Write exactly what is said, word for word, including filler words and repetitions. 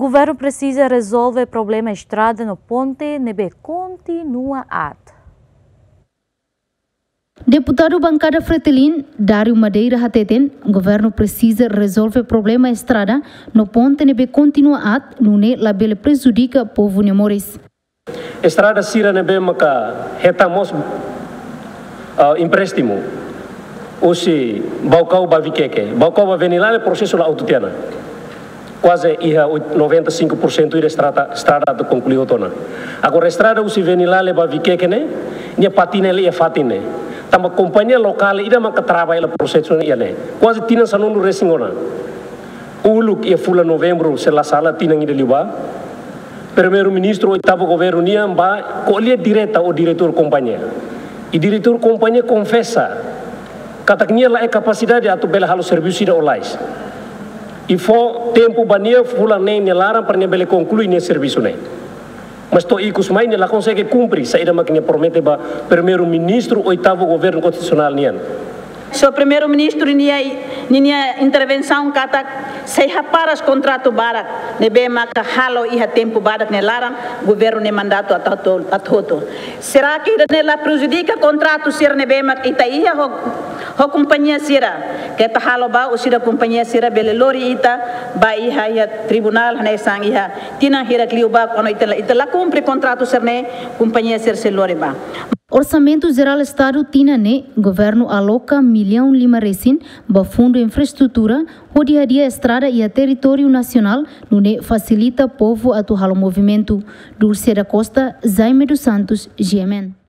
Governu presiza rezolve problema estrada no ponte ne'ebé kontinua aat. Deputadu bankada Fretilin, Dario Madeira hateten, governu presiza rezolve problema estrada no ponte ne'ebé kontinua aat, nune'e labele prejudika povu nia moris. Estrada sira ne'ebé maka hetan mós, ah, empréstimu husi Baucau ba Viqueque, Baucau ba Venilale, prosesu la'o hotu tiha ona. Kuaze iha oit-, noventa e cinco por cento ida estrada, estrada atu konklui hotu ona. Agora estrada husi Venilale ba Viqueque ne'e, nia parte ne'e iha fatin ne'e. Tanba kompañia lokál ida maka trava hela prosesu ne'e iha ne'e. Kuaze tinan sanulu resin ona. Uluk iha fulan Novembru, se la sala tinan ida liubá, Primeiru-Ministru oitavu governu nian bá ko'alia direta ho diretór kompañia. I diretór kompañia konfesa katak nia laiha kapasidade atu bele halo servisu ida ho lalais. I fó tempu ba nia fulan neen nia laran para nia bele konklui nia servisu ne'e. Mas to'o ikus mai nia la konsege kumpre saida mak nia promete ba Primeiru-Ministru oitavu governu konstitusionál nian. Señór Primeiru-Ministru ninia, ninia intervensaun katak sei hapara kontratu barak ne'ebé maka halo iha tempu badak nia laran, governu nia mandatu atu, atu, atu hotu. Será que ida-ne'e la prejudika kontratu sira ne'ebé mak ita iha ho, ho kompañia sira? Keta halo ba, orsida kompañia sira bele lori ita ba iha, iha tribunál, hanesan iha tinan hirak liubá, kuandu ita la, ita la kumpre kontratu sira-ne'e, kompañia sira sei lori ba. Orsamentu Jerál Estadu tinan ne'e, governu aloka millaun lima resin ba fundu infraestrutura, hodi hadi'a estrada iha territóriu nasionál, nune'e fasilita povu atu halo movimentu. Dulce da Costa, Jaime dos Santos, G M N.